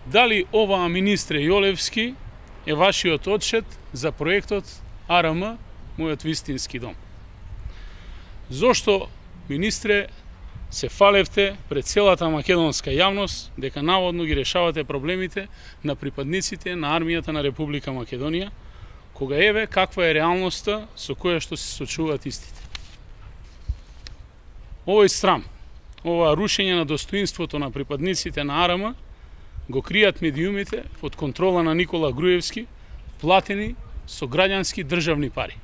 Дали ова, министре Јолевски, е вашиот одчет за проектот АРМ, мојот вистински дом? Зошто, министре, се фалевте пред целата македонска јавност дека наводно ги решавате проблемите на припадниците на армијата на Република Македонија, кога еве каква е реалноста со која што се сочуваат истите? Овој срам, ова рушење на достоинството на припадниците на АРМ го кријат медиумите под контрола на Никола Груевски, платени со граѓански државни пари.